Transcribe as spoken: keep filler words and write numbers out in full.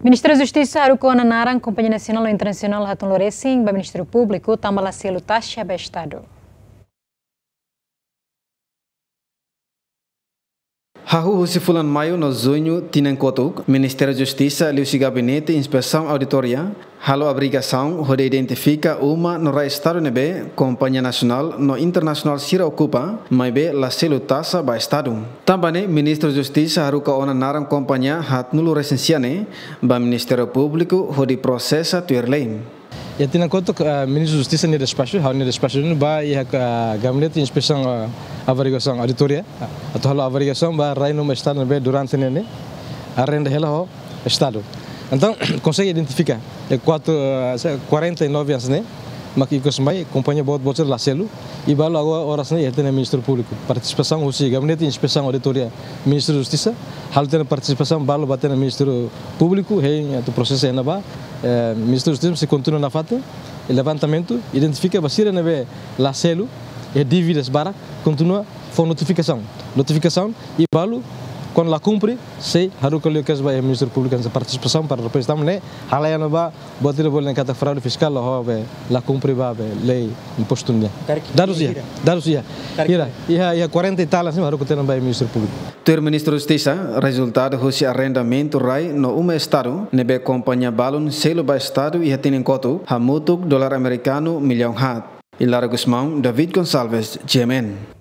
Ministériu Justisa haruka ona naran kompañia nasionál no internasionál haatnulu resin ba Ministériu Públiku tanba la selu taxa ba Estadu. Hahú husi fulan Maiu no Juñu tinan kotuk, Ministériu Justisa liuhusi Gabinete Inspesaun Auditoria halo averigasaun hodi identifika uma no rai Estadu ne'ebé kompañia nasionál no internasionál sira okupa, maibé la selu taxa ba Estadu. Tanba ne'e, Ministru Justisa haruka ona naran kompañia haatnulu resin sia ne'e ba Ministériu Públiku hodi prosesa tuir lei. Iha tinan kotuk, ah, Ministru Justisa nia despaxu, ha'u-nia despaxu duni ba iha, ah, Gabinete Inspesaun, ah, Averigasaun Auditoria, ah, atu halo averigasaun ba rai no uma Estadu ne'ebé durante ne'e ne'e arrenda hela ho Estadu. Entaun, konsege identifika, eh, kuatru, eh, se-, kuarenta e nove anos ne'e, mak ikus mai, kompañia boot-boot sira la selu, i balu agora oras ne'e iha tiha ona Ministériu Públiku. Partisipasaun husi Gabinete Inspesaun Auditoria, Ministériu Justisa, halo tiha ona partisipasaun balu ba tiha ona Ministériu Públiku, hein, atu prosesa iha ne'ebá, eh, Ministériu Justisa sei kontinua nafatin, levantamentu, identifika ba sira ne'ebé la selu, iha dívidas barak, kontinua fó notifikasaun. Notifikasaun, i balu, kuandu la kumpre, sei haruka liu kesu ba iha Ministériu Públiku, hanesan partisipasaun para depois tanba ne'e, halai iha ne'ebá, buat ida bolu dehan katak fraude fiskál, ho be la kumpre ba be lei impostu nian. Karik Dadus iha, ira. Dadus iha. Karik Ira, ira. Iha, iha kuarenta e tal, hanesan haruka tiha ona ba iha Ministériu Públiku. Tuir Ministru Justisa, rezultadu husi arrendamentu rai no uma Estadu, ne'ebé kompañia balun selu ba Estadu iha tinan kotuk, hamutuk dolar amerikanu millaun haat. Hilario Gusmão, David Gonçalves, G M N.